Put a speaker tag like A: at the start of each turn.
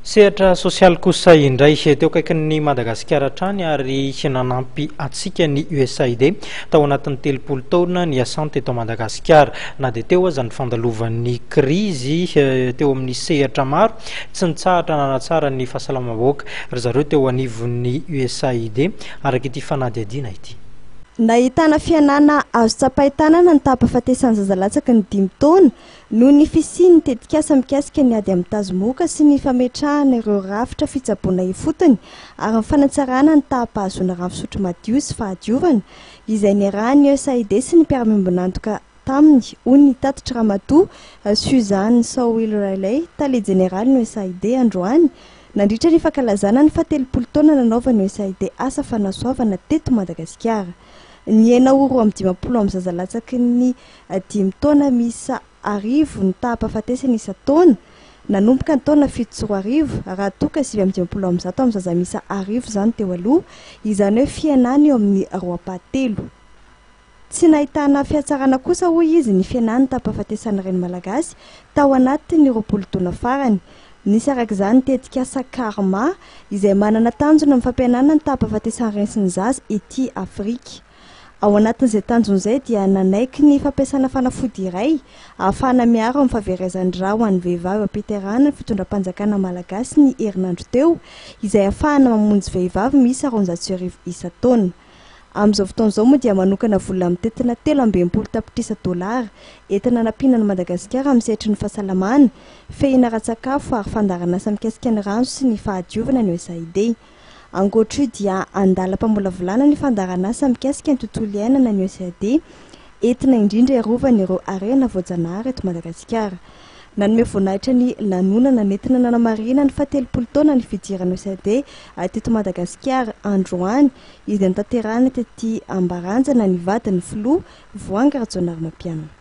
A: Sehatra sosialy kosa indray, teo akaikin'i Madagasikara hatrany ary nanampy antsika ny USAID tao anatin'ny 30 taona niasany teto Madagasikara. Na dia teo aza ny fandalovan'ny krizy teo amin'ny sehatra maro, tsy nitsahatra nanatsara ny fahasalamam-bahoaka ry zareo teo anivon'ny USAID, araka ity fanadihadiana ity.
B: Nahitana fihenana azo tsapain-tanana ny taham-pahafatesan'ny zaza latsaky ny dimy taona Noho ny fisian'ny tetikasa mikasika ny ady amin'ny tazomoka sy ny fametrahana ireo rafitra fitsaboana ifotony ary ny fanatsarana ny taham-pahazoana rano fisotro madio sy fahadiovana, izay niarahan'ny USAID sy ny mpiara-miombon'antoka taminy, hoy ny tatitry Ramatoa Suzanne Sawil-Riley, tale jeneralin'ny USAID, androany, nandritra ny fankalazana ny fahatelopolo taona nanaovan'ny USAID asa fanasoavana teto Madagasikara. Nihena ho 52 amin'ny zaza latsaky ny dimy taona miisa 1000 ny taham-pahafatesana isan-taona, nanomboka ny taona 2007, raha toa ka 159 amin'ny zaza miisa 1000 izany teo aloha, izany hoe fihenana eo amin'ny roa ampahatelo. Tsy nahitana fihatsarana kosa hoy izy ny fihenan'ny taham-pahafatesan'ny reny malagasy tao anatin'ny 20 taona farany. Nisy araka izany ny tetikasa Karma, izay manana tanjona amin'ny fampihenana ny taham-pahafatesan'ny reny sy ny zaza ety Afrika. Ao anatin'izay tanjona izay dia nanaiky ny fampiasana fanafody iray ahafahana miaro amin'ny fahaverezan-drà ho an'ny vehivavy am-piterahana ny fitondram-panjakana malagasy ny herinandro teo, izay ahafahana mamonjy vehivavy miisa 1200 isan-taona. Amin'izao fotoana izao moa dia manokana vola mitentina 63 tapitrisa dolara entina hanampiana an'i Madagasikara amin'ny sehatry ny fahasalamana, fehina ara-tsakafo ary fandaharanasa mikasika ny rano sy ny fahadiovana ny USAID. Ankoatra io dia andalam-pamolavolana ny fandaharanasa mikasika ny tontolo iainana ny USAID, entina indrindra hiarovana ireo harena voajanahary eto Madagasikara. Nanome voninahitra ny lanonana nentina nanamarihina ny fahatelopolo taona ny fidiran'ny USAID teto Madagasikara androany, izay notanterahina tety Ambaranjana ny vadin'ny filoha, Voahangy Rajaonarimampianina.